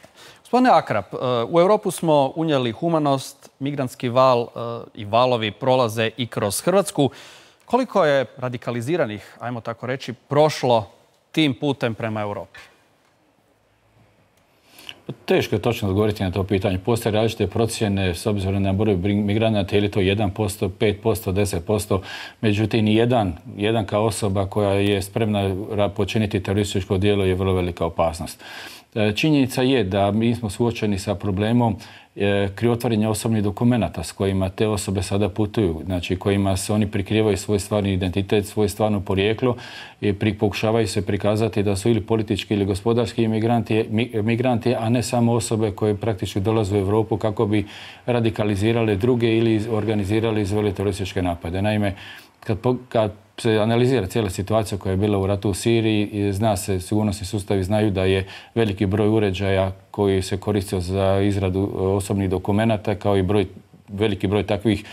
Gospodine Akrap, u Europu smo unijeli humanost, migrantski val i valovi prolaze i kroz Hrvatsku. Koliko je radikaliziranih, ajmo tako reći, prošlo tim putem prema Europi? Teško je točno odgovoriti na to pitanje. Postoje različite procjene s obzirom na broj migranata, ili to jedan posto, pet posto, deset posto. Međutim, ni jedan, jedan kao osoba koja je spremna počiniti terorističko djelo je vrlo velika opasnost. Činjenica je da mi smo suočeni sa problemom krivotvorenja osobnih dokumenata s kojima te osobe sada putuju, znači kojima se oni prikrivaju svoj stvarni identitet, svoje stvarno porijeklo i pokušavaju se prikazati da su ili politički ili gospodarski imigranti, migranti, a ne samo osobe koje praktički dolaze u Europu kako bi radikalizirale druge ili organizirali izveli terorističke napade. Naime, kad, kad se analizira cijela situacija koja je bila u ratu u Siriji, zna se, sigurnosni sustavi znaju da je veliki broj uređaja koji se koristio za izradu osobnih dokumenata, kao i broj, veliki broj takvih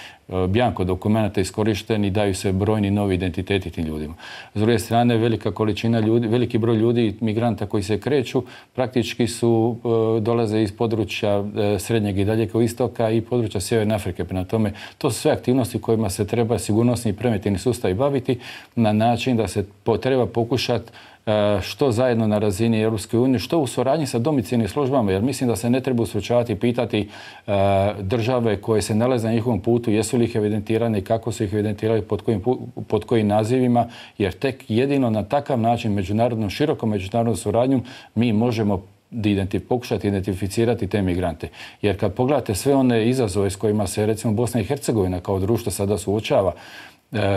bjanko dokumenata iskorišteni i daju se brojni novi identiteti tim ljudima. S druge strane, velika količina ljudi, veliki broj ljudi, migranta koji se kreću, praktički su, dolaze iz područja Srednjeg i Daljeg istoka i područja Sjeverne Afrike. Prema tome, to su sve aktivnosti kojima se treba sigurnosni i preventivni sustavi baviti na način da se treba pokušati što zajedno na razini Europske unije, što u suradnji sa domicilnim službama, jer mislim da se ne treba usrećavati i pitati države koje se nalaze na njihovom putu, jesu li ih evidentirane i kako su ih evidentirali, pod kojim, pod kojim nazivima, jer tek jedino na takav način, međunarodnom, širokom međunarodnom suradnjom, mi možemo identif pokušati identificirati te migrante. Jer kad pogledate sve one izazove s kojima se recimo Bosna i Hercegovina kao društvo sada suočava,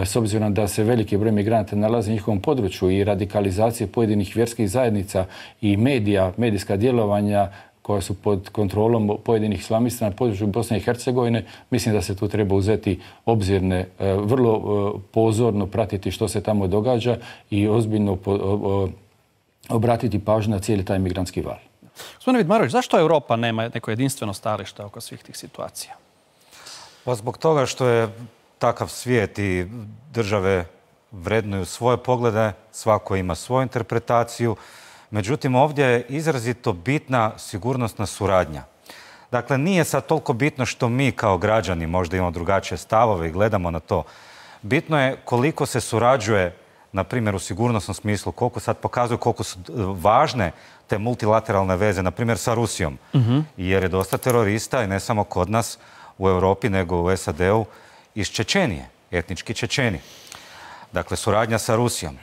s obzirom da se veliki broj migranata nalazi u njihovom području i radikalizacije pojedinih vjerskih zajednica i medija, medijska djelovanja koja su pod kontrolom pojedinih islamista na području Bosne i Hercegovine, mislim da se tu treba uzeti obzirne, vrlo pozorno pratiti što se tamo događa i ozbiljno obratiti pažnju na cijeli taj migrantski val. Gospodine Vidmarović, zašto Europa nema neko jedinstveno stajalište oko svih tih situacija? Pa zbog toga što je takav svijet i države vrednuju svoje poglede, svako ima svoju interpretaciju. Međutim, ovdje je izrazito bitna sigurnosna suradnja. Dakle, nije sad toliko bitno što mi kao građani možda imamo drugačije stavove i gledamo na to. Bitno je koliko se surađuje, na primjer u sigurnosnom smislu, koliko sad pokazuju koliko su važne te multilateralne veze, na primjer sa Rusijom. Uh-huh. Jer je dosta terorista i ne samo kod nas u Europi, nego u S A D-u iz Čečenije, etnički Čečeni. Dakle, suradnja sa Rusijom.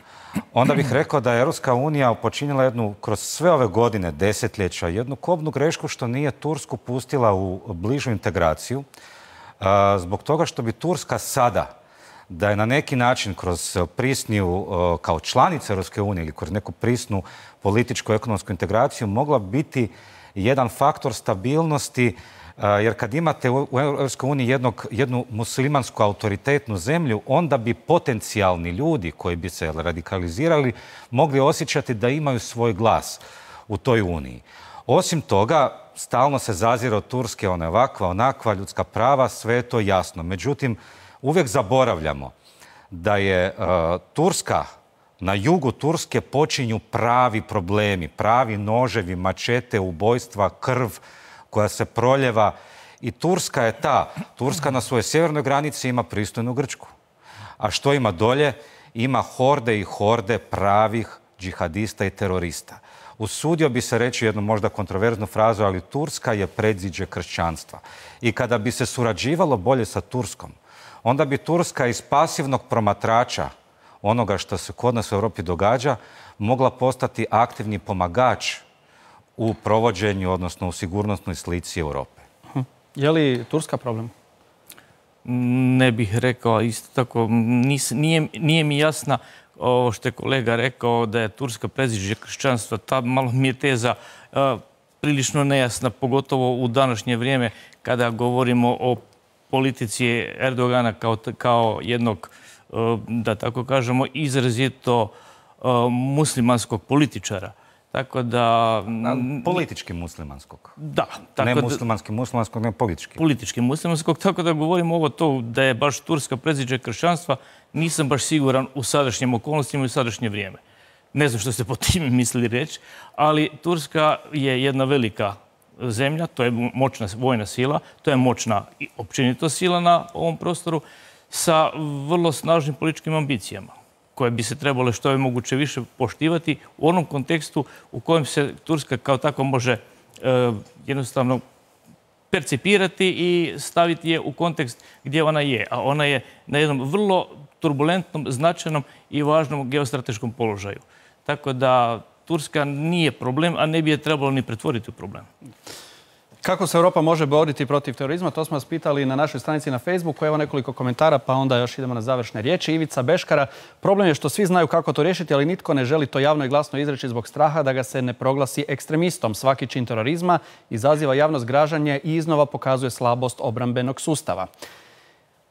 Onda bih rekao da je Europska unija počinila jednu, kroz sve ove godine, desetljeća, jednu kobnu grešku što nije Tursku pustila u bližu integraciju. Zbog toga što bi Turska sada, da je na neki način kroz prisniju, kao članica Europske unije ili kroz neku prisnu političku ekonomsku integraciju, mogla biti jedan faktor stabilnosti. Jer kad imate u Europskoj uniji jednog, jednu muslimansku autoritetnu zemlju, onda bi potencijalni ljudi koji bi se radikalizirali mogli osjećati da imaju svoj glas u toj uniji. Osim toga, stalno se zazira od Turske, ona je ovakva, onakva, ljudska prava, sve je to jasno. Međutim, uvijek zaboravljamo da je uh, Turska, na jugu Turske počinju pravi problemi, pravi noževi, mačete, ubojstva, krv koja se proljeva. I Turska je ta. Turska na svojoj sjevernoj granici ima pristojnu Grčku. A što ima dolje? Ima horde i horde pravih džihadista i terorista. Usudio bi se reći jednu možda kontroverznu frazu, ali Turska je predziđe kršćanstva. I kada bi se surađivalo bolje sa Turskom, onda bi Turska iz pasivnog promatrača onoga što se kod nas u Europi događa mogla postati aktivni pomagač u provođenju, odnosno u sigurnosnoj slici Europe. Hm. Je li Turska problem? Ne bih rekao isto tako. Nis, nije, nije mi jasna ovo što je kolega rekao da je Turska predziđe kršćanstva. Ta malo mi je teza uh, prilično nejasna, pogotovo u današnje vrijeme kada govorimo o politici Erdogana kao, kao jednog, uh, da tako kažemo, izrazito uh, muslimanskog političara. Tako da... Politički muslimanskog. Da. Tako ne muslimanski muslimanskog, ne politički. Politički muslimanskog, tako da govorimo ovo to da je baš Turska predziđe kršćanstva, nisam baš siguran u sadašnjim okolnostima i u sadašnje vrijeme. Ne znam što ste po time mislili reći, ali Turska je jedna velika zemlja, to je moćna vojna sila, to je moćna i općenito sila na ovom prostoru sa vrlo snažnim političkim ambicijama, koje bi se trebalo što je moguće više poštivati u onom kontekstu u kojem se Turska kao tako može e, jednostavno percipirati i staviti je u kontekst gdje ona je. A ona je na jednom vrlo turbulentnom, značajnom i važnom geostrateškom položaju. Tako da Turska nije problem, a ne bi je trebalo ni pretvoriti u problem. Kako se Europa može boriti protiv terorizma? To smo vas pitali na našoj stranici na Facebooku. Evo nekoliko komentara, pa onda još idemo na završne riječi. Ivica Beškara, problem je što svi znaju kako to riješiti, ali nitko ne želi to javno i glasno izreći zbog straha da ga se ne proglasi ekstremistom. Svaki čin terorizma izaziva javno zgražanje i iznova pokazuje slabost obrambenog sustava.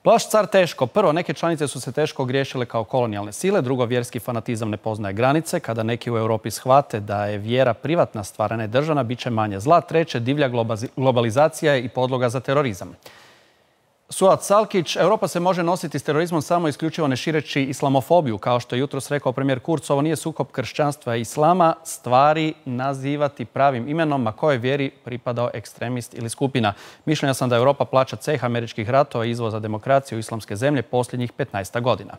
Plaš car teško. Prvo, neke članice su se teško ogriješile kao kolonijalne sile. Drugo, vjerski fanatizam ne poznaje granice. Kada neki u Europi shvate da je vjera privatna stvar, a ne državna, bit će manje zla. Treće, divlja globalizacija je i podloga za terorizam. Suat Salkić, Europa se može nositi s terorizmom samo isključivo ne šireći islamofobiju. Kao što je jutros rekao premijer Kurz, ovo nije sukob kršćanstva i islama, stvari nazivati pravim imenom, ma kojoj vjeri pripadao ekstremist ili skupina. Mišljenja sam da Europa plaća ceh američkih ratova i izvoza demokracije u islamske zemlje posljednjih petnaest godina.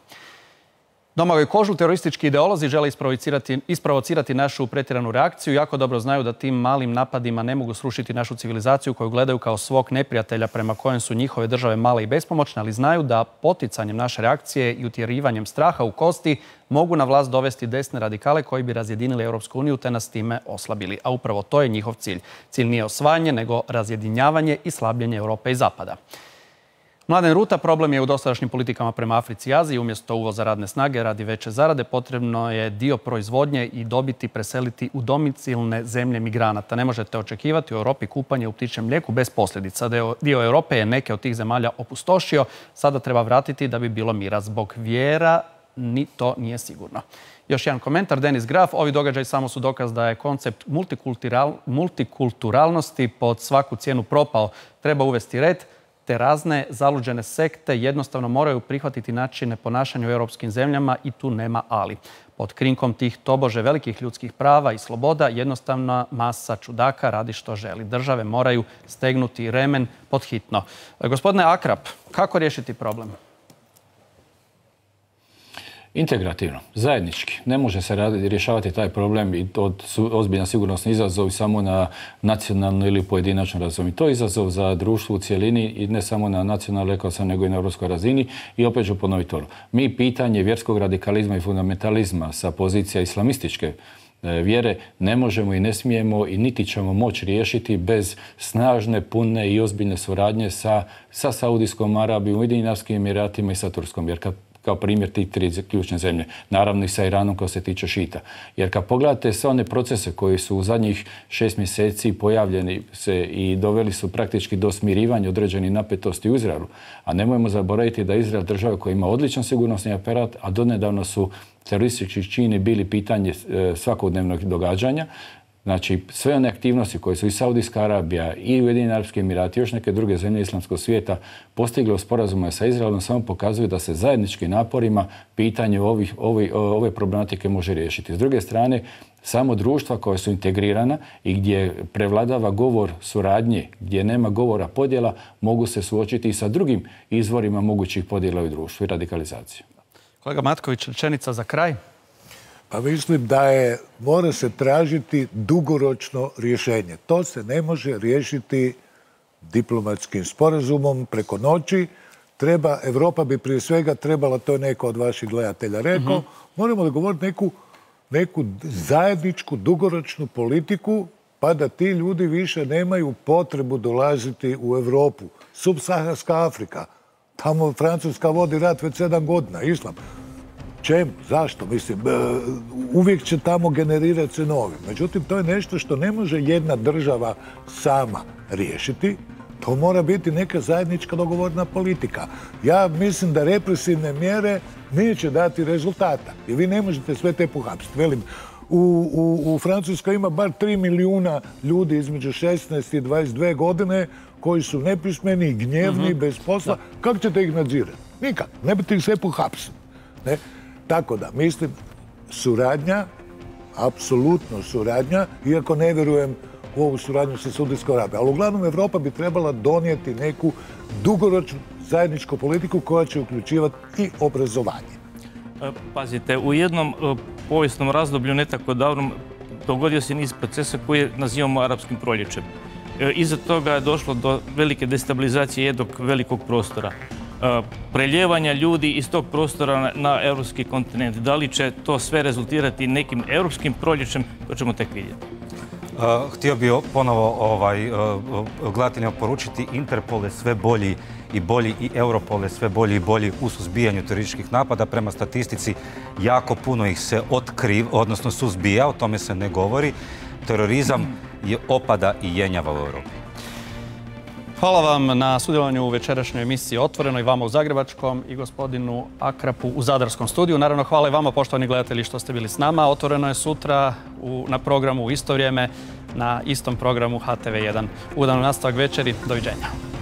Domagoj Kožul, teroristički ideolozi žele isprovocirati našu pretjeranu reakciju. Jako dobro znaju da tim malim napadima ne mogu srušiti našu civilizaciju koju gledaju kao svog neprijatelja prema kojem su njihove države male i bespomoćne, ali znaju da poticanjem naše reakcije i utjerivanjem straha u kosti mogu na vlast dovesti desne radikale koji bi razjedinili Europsku uniju te nas time oslabili. A upravo to je njihov cilj. Cilj nije osvajanje, nego razjedinjavanje i slabljenje Europe i Zapada. Mladen Ruta, problem je u dosadašnjim politikama prema Africi i Aziji. Umjesto uvoza radne snage radi veće zarade, potrebno je dio proizvodnje i dobiti preseliti u domicilne zemlje migranata. Ne možete očekivati u Europi kupanje u ptičjem mlijeku bez posljedica. Dio Europe je neke od tih zemalja opustošio. Sada treba vratiti da bi bilo mira. Zbog vjera ni to nije sigurno. Još jedan komentar, Denis Graf. Ovi događaji samo su dokaz da je koncept multikulturalnosti pod svaku cijenu propao. Treba uvesti red, te razne zaluđene sekte jednostavno moraju prihvatiti načine ponašanja u europskim zemljama i tu nema ali. Pod krinkom tih tobože velikih ljudskih prava i sloboda jednostavna masa čudaka radi što želi. Države moraju stegnuti remen pod hitno. Gospodine Akrap, kako riješiti problem? Integrativno, zajednički. Ne može se rješavati taj problem i to su ozbiljan sigurnosni izazov samo na nacionalnoj ili pojedinačnoj razini. To je izazov za društvo u cijelini i ne samo na nacionalnoj, rekao sam, nego i na europskoj razini. I opet ću ponoviti to. Mi pitanje vjerskog radikalizma i fundamentalizma sa pozicija islamističke vjere ne možemo i ne smijemo i niti ćemo moći riješiti bez snažne, pune i ozbiljne suradnje sa, sa Saudijskom Arabijom, Ujedinjenim Arapskim Emiratima i sa Turskom. Jer kad kao primjer tih tri ključne zemlje. Naravno i sa Iranom kao se tiče šita. Jer kad pogledate sve one procese koji su u zadnjih šest mjeseci pojavljeni se i doveli su praktički do smirivanja određenih napetosti u Izraelu, a nemojmo zaboraviti da je Izrael država koja ima odličan sigurnosni aparat, a donedavno su teroristički čini bili pitanje svakodnevnog događanja. Znači, sve one aktivnosti koje su i Saudijska Arabija i Ujedinjeni Arapski Emirati i još neke druge zemlje islamskog svijeta postigle u sporazumima sa Izraelom samo pokazuju da se zajedničkim naporima pitanje ovih, ove, ove problematike može riješiti. S druge strane, samo društva koja su integrirana i gdje prevladava govor suradnje, gdje nema govora podjela, mogu se suočiti i sa drugim izvorima mogućih podjela u društvu i radikalizaciju. Kolega Matković, rečenica za kraj. Pa mislim da je, mora se tražiti dugoročno rješenje. To se ne može riješiti diplomatskim sporazumom preko noći. Treba, Europa bi prije svega trebala, to je neko od vaših gledatelja rekao, mm-hmm. moramo dogovoriti neku, neku zajedničku dugoročnu politiku pa da ti ljudi više nemaju potrebu dolaziti u Europu. Subsaharska Afrika, tamo Francuska vodi rat već sedam godina, islam. Čemu? Zašto? Mislim, uvijek će tamo generirati se novi. Međutim, to je nešto što ne može jedna država sama riješiti. To mora biti neka zajednička dogovorna politika. Ja mislim da represivne mjere neće dati rezultata. I vi ne možete sve te pohapsiti. Velim, u, u, u Francuskoj ima bar tri milijuna ljudi između šesnaest i dvadeset dvije godine koji su nepismeni, gnjevni, mm-hmm. bez posla. Da. Kako ćete ih nadzirati? Nikak. Ne biste ih sve pohapsiti. Ne? Tako da, mislim, suradnja, apsolutno suradnja, iako ne vjerujem u ovu suradnju sa Saudijskom Arabijom. Ali uglavnom Europa bi trebala donijeti neku dugoročnu zajedničku politiku koja će uključivati i obrazovanje. Pazite, u jednom povijesnom razdoblju, ne tako davnom, dogodio se niz procesa koje nazivamo arapskim proljećem. Iza toga je došlo do velike destabilizacije jednog velikog prostora. preljevanja ljudi iz tog prostora na europski kontinent. Da li će to sve rezultirati nekim europskim proljećem, to ćemo tek vidjeti. Htio bih ponovo ovaj, gledateljima poručiti, Interpol je sve bolji i bolji i Europol je sve bolji i bolji u suzbijanju terorističkih napada. Prema statistici jako puno ih se otkriv, odnosno suzbija, o tome se ne govori. Terorizam je opada i jenjava u Europi. Hvala vam na sudjelovanju u večerašnjoj emisiji Otvoreno i vama u Zagrebačkom i gospodinu Akrapu u Zadarskom studiju. Naravno, hvala i vama, poštovani gledatelji, što ste bili s nama. Otvoreno je sutra u, na programu u isto vrijeme, na istom programu H T V jedan. Ugodan nastavak večeri. Doviđenja.